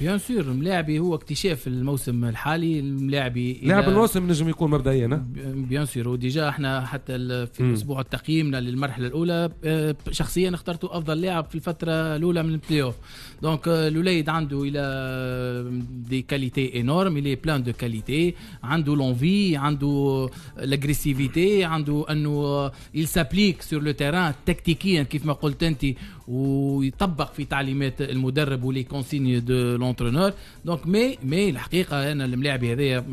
bien sûr، الملاعبي هو اكتشاف الموسم الحالي، الملاعبي لاعب الموسم نجم يكون مبدئيا. bien sûr، و déjà احنا حتى في اسبوع تقييمنا للمرحلة الاولى شخصيا اخترته افضل لاعب في الفترة الاولى من ال play-off. donc الوليد عنده il a des qualités énormes، il est plein de qualités، عنده l'envie، عنده l'agressivité، عنده انه il s'applique sur le terrain تكتيكيا كيف ما قلت انت، ويطبق في تعليمات المدرب و les consignes de l'entraîneur. donc mais الحقيقة انا الملاعبي هذايا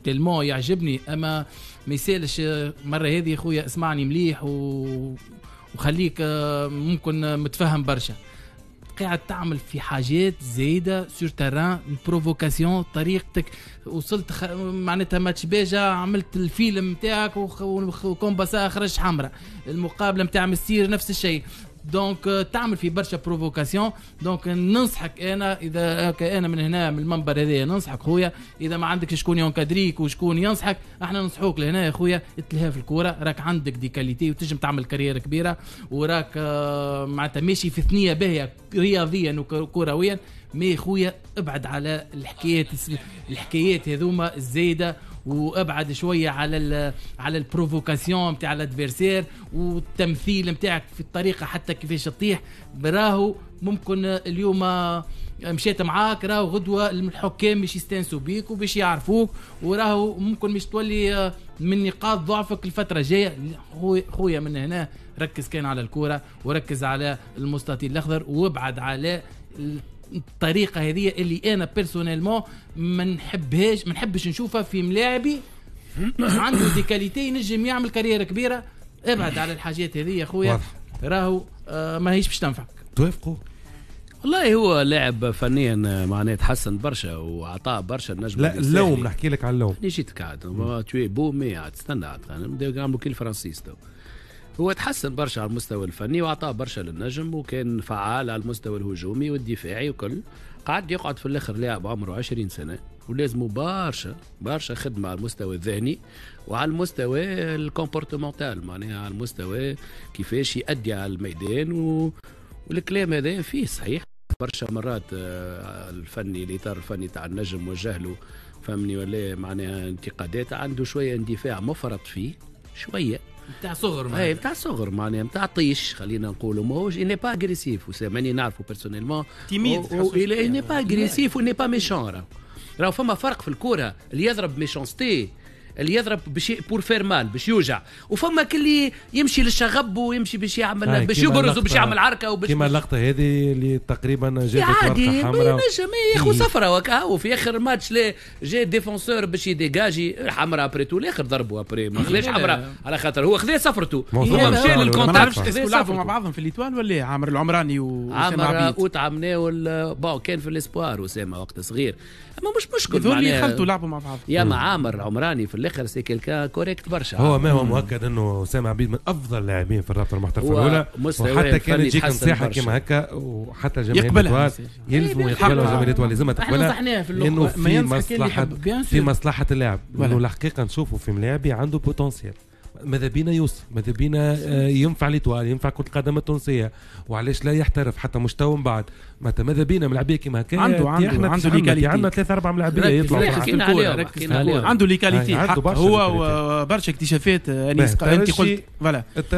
tellement يعجبني، اما ما يسالش مرة هذه خويا اسمعني مليح وخليك ممكن متفهم برشا. قاعد تعمل في حاجات زايدة sur terrain، ال provocation، طريقتك وصلت معناتها ماتش باجا عملت الفيلم نتاعك وكومباسا خرج حمراء، المقابلة نتاع مستير نفس الشيء. donc تعمل في برشا provocation. donc ننصحك انا، اذا انا من هنا من المنبر هذايا ننصحك خويا، اذا ما عندك شكون ي encadrer ك وشكون ينصحك، احنا ننصحوك لهنا يا خويا، اتلهى في الكوره، راك عندك des qualités وتنجم تعمل carrière كبيره، وراك معناتها ماشي في ثنيه باهيه رياضيا وكرويا. mais خويا ابعد على الحكايات هذوما الزايده، وابعد شوية على ال provocation نتاع l'adversaire والتمثيل نتاعك في الطريقة حتى كيفاش تطيح. راهو ممكن اليوم مشيت معاك، راهو غدوه الحكام مش يستانسوا بيك وباش يعرفوك، وراهو ممكن مش تولي من نقاط ضعفك الفترة الجايه. خويا من هنا ركز كان على الكورة وركز على المستطيل الاخضر، وابعد على الطريقة هذه اللي انا personnellement ما نحبهاش، ما نحبش نشوفها في ملاعبي عنده des qualités ينجم يعمل carrière كبيره. ابعد على الحاجات هذه يا خويا، راهو ما هيش باش تنفعك. توافقوا؟ والله هو لاعب فنيا معناه تحسن برشا وعطاه برشا النجم. لا، اللوم، نحكي لك على اللوم. جيتك عاد tu es beau mais عاد استنى عاد نبداو نعملوا كي الفرنسيس تو. هو تحسن برشا على المستوى الفني وعطاه برشا للنجم، وكان فعال على المستوى الهجومي والدفاعي وكل. قعد يقعد في الاخر لاعب عمره 20 سنة ولازمه برشا برشا خدمة على المستوى الذهني وعلى المستوى ال comportemental، معناها على المستوى كيفاش يأدي على الميدان والكلام هذا فيه صحيح. برشا مرات الفني، الاطار الفني تاع النجم وجه له، فهمني ولا، معناها انتقادات. عنده شوية اندفاع مفرط فيه شويه. نتاع صغر. اي، نتاع صغر، معناها نتاع طيش خلينا نقولوا. ماهوش، n'est pas agressif وساماني نعرفه personnellement. timide. n'est pas agressif و n'est pas méchant. راهو فما فرق في الكوره، اللي يضرب méchanceté، اللي يضرب باش pour faire mal، باش يوجع، وفما كل يمشي للشغب ويمشي باش يعمل، باش يبرز وباش يعمل عركة وباش كيما اللقطة هذه اللي تقريبا جابت ورقة حمراء. ينجم ياخذ صفرة وكا في اخر الماتش. لا، جا défenseur باش ي dégager، حمراء après tout. الاخر ضربوا après، ما خذاش حمراء على خاطر هو خذا صفرته، هو مشى لل contact. ما نعرفش est-ce que لعبوا مع بعضهم في l'Étoile ولا عامر العمراني؟ واسامة عبيد عامر عمناول، bon كان في l'espoir اسامة وقت صغير، اما مش مشكل. هذول خلطوا لعبوا مع بعض. يا ما عامر العمراني في الاخر c'est quelqu'un correct برشا. هو ما هو مؤكد انه اسامة عبيد من افضل اللاعبين في الرابطة المحترفه الاولى، وحتى كان يجيك نصيحة كيما هكا وحتى جماهير l'Étoile يلزموا يقبلوا، جماهير l'Étoile لازمها تقبلها، لانه في مصلحه اللاعب، لانه الحقيقة نشوفوا في ملاعبي عنده potentiel، ماذا بينا يوصل، ماذا بينا ينفع l'Étoile، ينفع كرة القدم التونسية، وعلاش لا يحترف حتى مش تو من بعد. ماذا بينا ملاعبيه كيما هكا. عنده عنده les qualités. عندنا ثلاثة أربع ملاعبية يطلعوا. عنده les qualités، هو برشا اكتشافات. انيس، انت قلت voilà.